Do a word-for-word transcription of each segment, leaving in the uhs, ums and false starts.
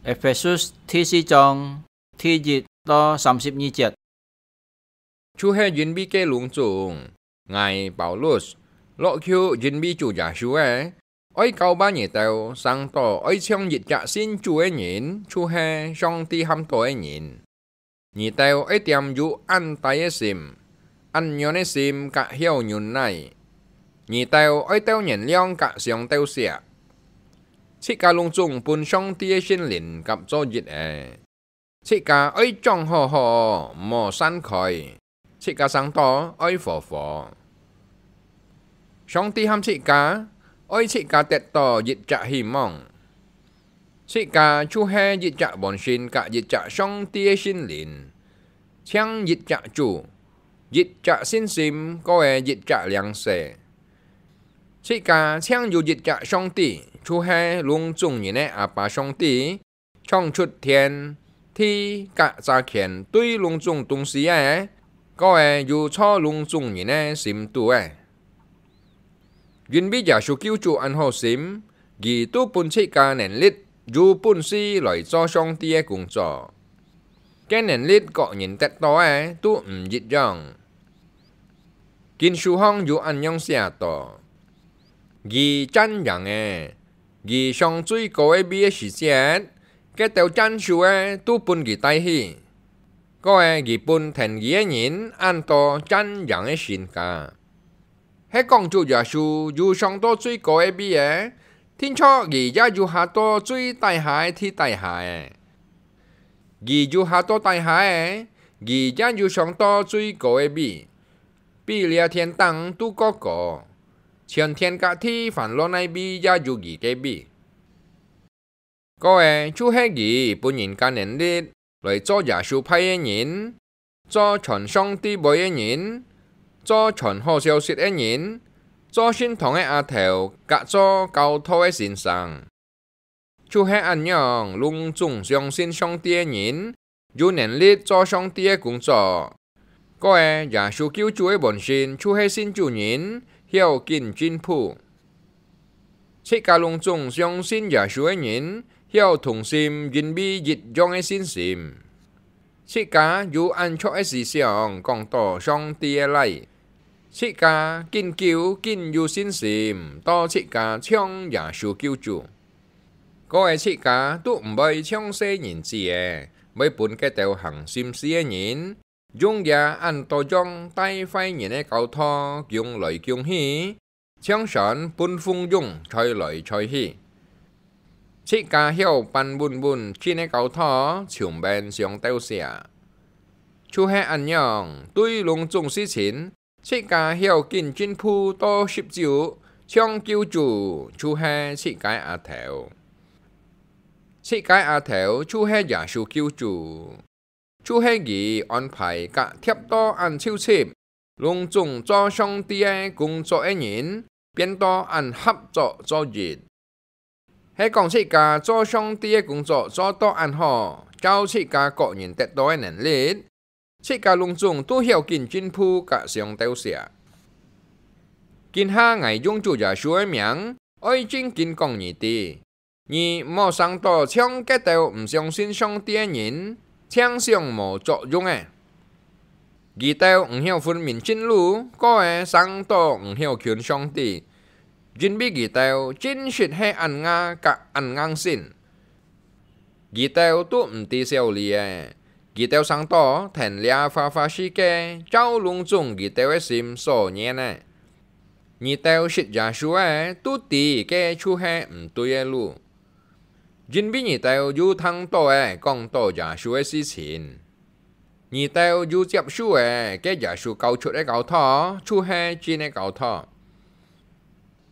Ephesus第四章第一到三十二節。就係因為該攏總，𠊎Paulus，落去因為主耶穌个，愛教化你兜，成到愛像一隻信主个人，就係上帝喊到个人。 你兜愛踮有恁大个心、恁軟个心甲曉忍耐。你兜愛鬥原諒甲相鬥惜。自家攏總分上帝个聖靈甲做一个。自家愛掌好好，毋好散開。自家成到愛和和。上帝喊自家，愛自家得到一隻希望。 自家就係一隻本身甲一隻上帝个聖靈，淨一隻主，一隻信心，過个一隻領洗。自家淨有一隻上帝，就係攏總人个阿爸上帝，創出天、地甲遮全對攏總東西个，過个有坐攏總人个心肚个。 因為耶穌救主恁好心，佢都分自家能力，有本事來做上帝个工作。該能力各人得到个都毋一樣。經書項有恁樣寫到：佢戰贏个，佢上最高个位个時節，該兜戰輸个都分佢帶去。過个佢分跈佢个人恁多戰贏个身價。 係講主耶穌有上到最高个位个，定著佢也有下到最底下个地底下个。佢有下到底下个，佢也有上到最高个位，比這天頂都過高。全天甲地凡落哪位也有佢个位。 過个就係佢分人家能力，來做耶穌派个人，做傳上帝話个人，做傳好消息个人，做聖堂个阿頭，甲做教導个先生。就係恁樣，攏總相信上帝个人， 有能力做上帝个工作。過个耶穌救主个本身就係信主人，曉緊進步。自家攏總相信耶穌个人，曉同心，因為一樣个信心。自家有恁著个思想，講到上帝个倈。自家緊久緊有信心，到自家像耶穌救主。 過个自家都毋會像細人子仔，會分該兜行心思个人，用這恁多樣帶壞人个教導降來降去，像船分風湧吹來吹去。自家曉扳穩穩真个教導，就免相鬥惜。就係恁樣，對攏總事情， 自家曉緊進步到十足，像救主就係自家阿頭。自家阿頭就係耶穌救主，就係佢安排甲貼到恁湊齊，攏總做上帝个工作个人，變到恁合作做一。 係講自家做上帝个工作做到恁好，照自家各人得到个能力，自家攏總都曉緊進步甲相鬥惜。今下𠊎用主耶穌个名，愛正經講你知，你毋好生到像該兜毋相信上帝个人，淨想無作用个。 佢兜毋曉分明真路，過个生到毋曉近上帝，因為佢兜真實係恁牙甲恁硬心。佢兜都毋知小理个，佢兜生到跈這花花世界，照攏總佢兜个心所願个。你兜識耶穌个，都知該就係毋對个路，因為你兜有聽到个講到耶穌个事情。 你兜有接受个，該耶穌教出个教導，就係真个教導。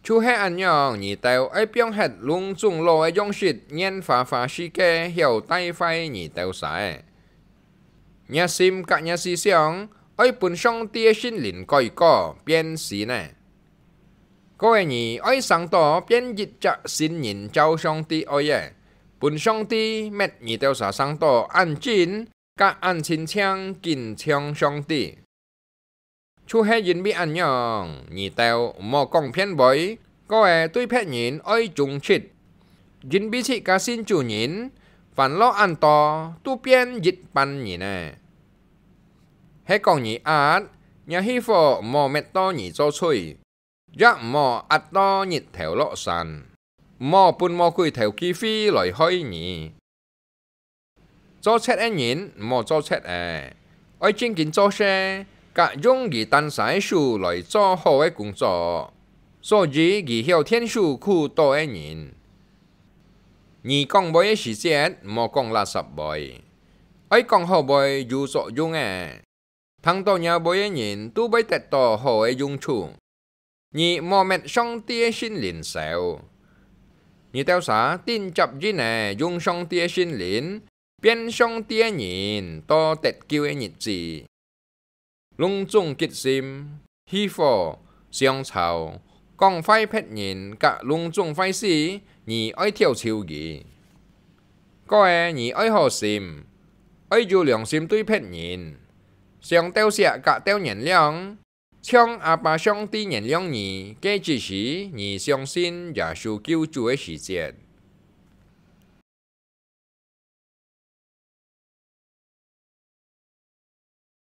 就係恁樣，你兜愛放忒攏總老个樣式，願花花世界曉帶壞你兜儕个。若心甲若思想，愛分上帝个聖靈改過，變新呢。過个你愛生到變一隻新人，照上帝愛个，分上帝搣你兜儕生到恁真， 甲恁親像緊像上帝。就係因為恁樣，你兜毋好講騙話，過个對別人愛忠直，因為自家信主人，煩惱恁多，都變一般人了。係講你閼，若虛火毋好搣到你做水，也毋好閼到日頭落山，毋好分魔鬼頭機會來害你。做賊个人毋好做賊仔，愛正經做事，佮用佢單儕个手來做好个工作，所以佢曉𢯭手苦惱个人。你講話个時節，毋好講垃圾話，愛講好話有作用个。聽到若話个人都會得到好个用處。你莫搣上帝个聖靈燒。你兜儕定接應仔用上帝个聖靈，變上帝个人到得救个日子。攏總激心、虛火、相吵、講壞別人佮攏總壞事，你愛挑樵佢。過仔你愛好心，愛有良心對別人，想鬥惜佮鬥原諒， 像阿爸上帝原諒你，該只是你相信耶穌救主个時節。